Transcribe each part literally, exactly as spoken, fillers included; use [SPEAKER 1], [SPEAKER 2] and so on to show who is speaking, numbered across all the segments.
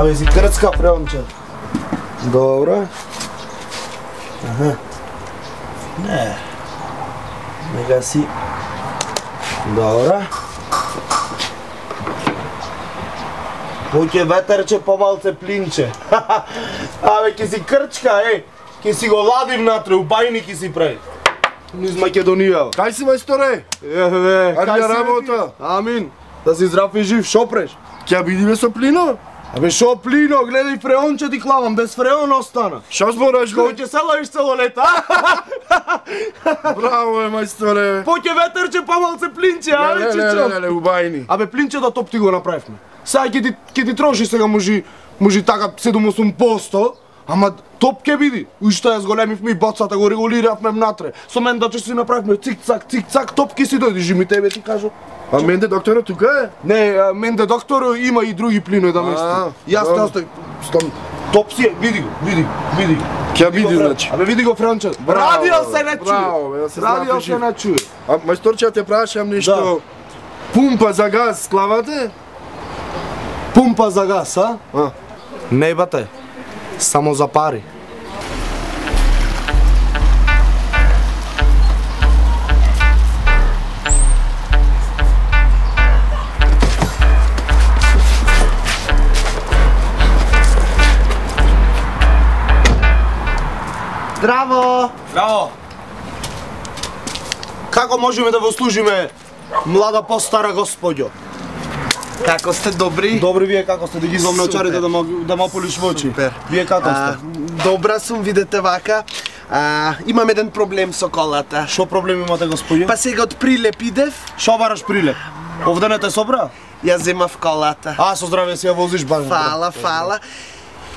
[SPEAKER 1] Абе си крцка фреонче. Добро. Аха. Не. Нека си. Добро. Поќе ветерче, помалце плинче. Абе, ке си крчка, е. Ке си го лади внатре, у бајни ке си прави. Низ Македонија.
[SPEAKER 2] Кај си, мајсторе?
[SPEAKER 1] Еве,
[SPEAKER 2] кај си работа?
[SPEAKER 1] Амин. Да си здрав и жив, шо преш?
[SPEAKER 2] Ќе бидиме со Плино?
[SPEAKER 1] Абе шо Плино, гледај фреонче ти клавам, без фреон остана.
[SPEAKER 2] Шо збораш,
[SPEAKER 1] Кој
[SPEAKER 2] бе?
[SPEAKER 1] ќе се ловиш цело лето,
[SPEAKER 2] Браво е, мајсторе.
[SPEAKER 1] Поќе ветерче, помалце плинче, абе
[SPEAKER 2] Леле,
[SPEAKER 1] чичо.
[SPEAKER 2] леле, у бајни.
[SPEAKER 1] Абе плинче да топ ти го направивме. Сега ќе ти ќе ти троши сега можи можи така седум-осум проценти, ама топ ќе биди. Уште ја зголемивме и боцата го регулиравме внатре. Со мен да че си направивме цик-цак, цик-цак, топ ќе си дојдеш, жими тебе ти кажу.
[SPEAKER 2] А менде докторот тука е?
[SPEAKER 1] Не, а, менде доктор има и други плинои да мести. Јас те остави. Стом топ си е, види го, види, види.
[SPEAKER 2] Ќе биди, значи.
[SPEAKER 1] Абе види го Франче. Радио се не чуе.
[SPEAKER 2] Браво, бе, да се
[SPEAKER 1] Радио
[SPEAKER 2] знапи
[SPEAKER 1] се
[SPEAKER 2] жив.
[SPEAKER 1] не чуе.
[SPEAKER 2] А мајсторче, те прашам нешто. Пумпа за газ клавате?
[SPEAKER 1] Пумпа за газ, а?
[SPEAKER 2] А.
[SPEAKER 1] Не бате. Само за пари.
[SPEAKER 3] Здраво!
[SPEAKER 1] Браво! Како можеме да го служиме, млада постара господјо?
[SPEAKER 3] Како сте добри?
[SPEAKER 1] Добри вие како сте, да ги извам на очарите
[SPEAKER 3] Супер.
[SPEAKER 1] да мо да мо полиш во очи.
[SPEAKER 3] Супер.
[SPEAKER 1] Вие како
[SPEAKER 3] А,
[SPEAKER 1] сте?
[SPEAKER 3] добра сум, видете вака. А, имам еден проблем со колата.
[SPEAKER 1] Шо проблем имате господје?
[SPEAKER 3] Па сега од Прилеп идев,
[SPEAKER 1] Шо бараш прилеп? Овде не те собра?
[SPEAKER 3] ја земав колата.
[SPEAKER 1] А, со здраве си ја возиш баш.
[SPEAKER 3] Фала, фала.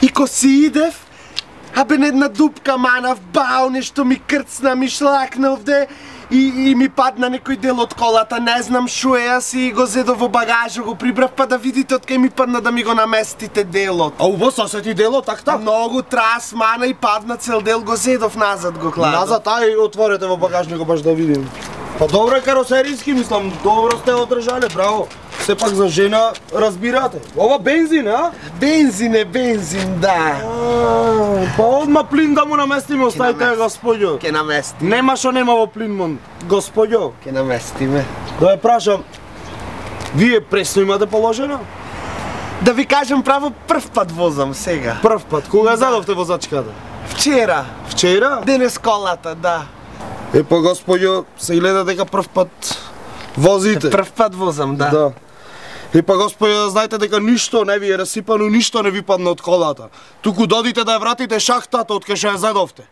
[SPEAKER 3] И ко си идев, абе на една дупка манав, бау, нешто ми крцна, ми шлакна овде. И, и ми падна некој дел од колата, не знам шо е, јас и го зедов во багажа, го прибрав, па да видите од кај ми падна да ми го наместите делот.
[SPEAKER 1] А убаво сосети дело, так так?
[SPEAKER 3] Многу трас, мана и падна цел дел, го зедов назад го кладов.
[SPEAKER 1] Назад, ај отворете во багажникот баш да видим. Па добро е каросеријски, мислам, добро сте одржале, браво. Сепак за жена разбирате. Ова бензин, а?
[SPEAKER 3] Бензин е бензин, да.
[SPEAKER 1] А, па одма плин да му наместиме, оставите господјо.
[SPEAKER 3] Ке наместим,
[SPEAKER 1] Нема шо нема во плин, мон. Господјо,
[SPEAKER 3] ке наместиме.
[SPEAKER 1] да ја прашам, вие пресно имате положено?
[SPEAKER 3] Да ви кажам право, прв пат возам сега.
[SPEAKER 1] Прв пат, кога задовте возачката?
[SPEAKER 3] Вчера,
[SPEAKER 1] Вчера?
[SPEAKER 3] денес колата, да.
[SPEAKER 1] Е, па господјо, се гледа дека прв пат возите.
[SPEAKER 3] Прв пат возам, да.
[SPEAKER 1] Да. И па господје, знаете дека ништо не ви е расипано, ништо не ви падна од колата. Туку додите да ја вратите шахтата од кај што ја зедовте.